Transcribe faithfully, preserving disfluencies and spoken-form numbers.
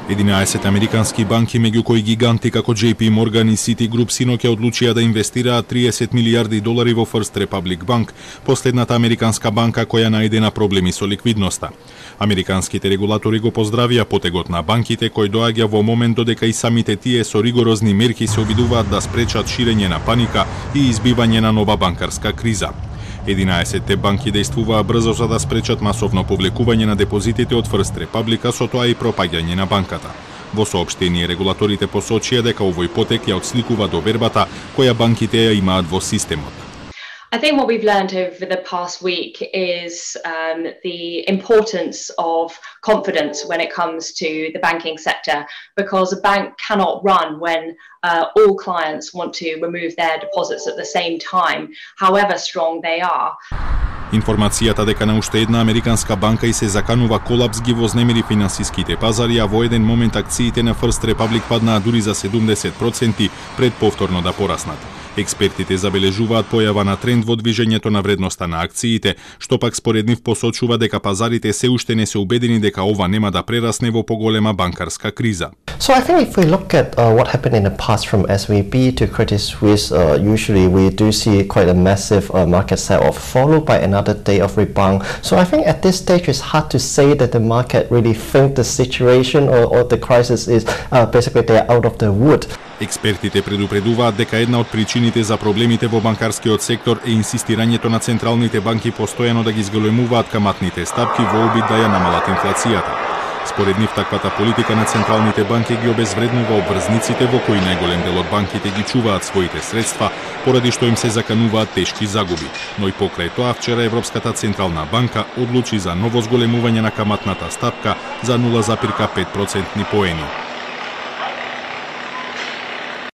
единаесет американски банки, меѓу кои гиганти како J P Morgan и Citigroup, синоќа одлучија да инвестираат триесет милијарди долари во First Republic Bank, последната американска банка која најде на проблеми со ликвидноста. Американските регулатори го поздравија потегот на банките, кој доаѓа во момент додека и самите тие со ригорозни мерки се обидуваат да спречат ширење на паника и избивање на нова банкарска криза. единаесетте банки дејствуваа брзо за да спречат масовно повлекување на депозитите од First Republic, со тоа и пропаѓање на банката. Во соопштение регулаторите посочија дека овој потек ја отсликува довербата која банките ја имаат во системот. I think what we've learned over the past week is um, the importance of confidence when it comes to the banking sector, because a bank cannot run when uh, all clients want to remove their deposits at the same time, however strong they are. Информацијата дека на уште една американска банка и се заканува колапс ги вознемири финансиските пазари, а во еден момент акциите на First Republic паднаа дури за седумдесет проценти пред повторно да пораснат. Експертите забележуваат појава на тренд во движењето на вредноста на акциите, што пак според нив посочува дека пазарите се уште не се убедени дека ова нема да прерасне во поголема банкарска криза. So I think if we look at uh, what happened in the past from S V B to Credit Suisse, uh, usually we do see quite a massive uh, market sell-off followed by another day of rebound. So I think at this stage it's hard to say that the market really think the situation or, or the crisis is uh, basically they're out of the wood. Експертите предупредуваат дека една од причините за проблемите во банкарскиот сектор е инсистирањето на централните банки постојано да ги зголемуваат каматните стапки во обид да ја намалат инфлацијата. Според нив, таквата политика на централните банки ги обезвреднува обврзниците во кои најголем дел од банките ги чуваат своите средства, поради што им се закануваат тешки загуби. Но и покрај тоа, вчера Европската централна банка одлучи за ново зголемување на каматната стапка за нула зарез пет процентни поени.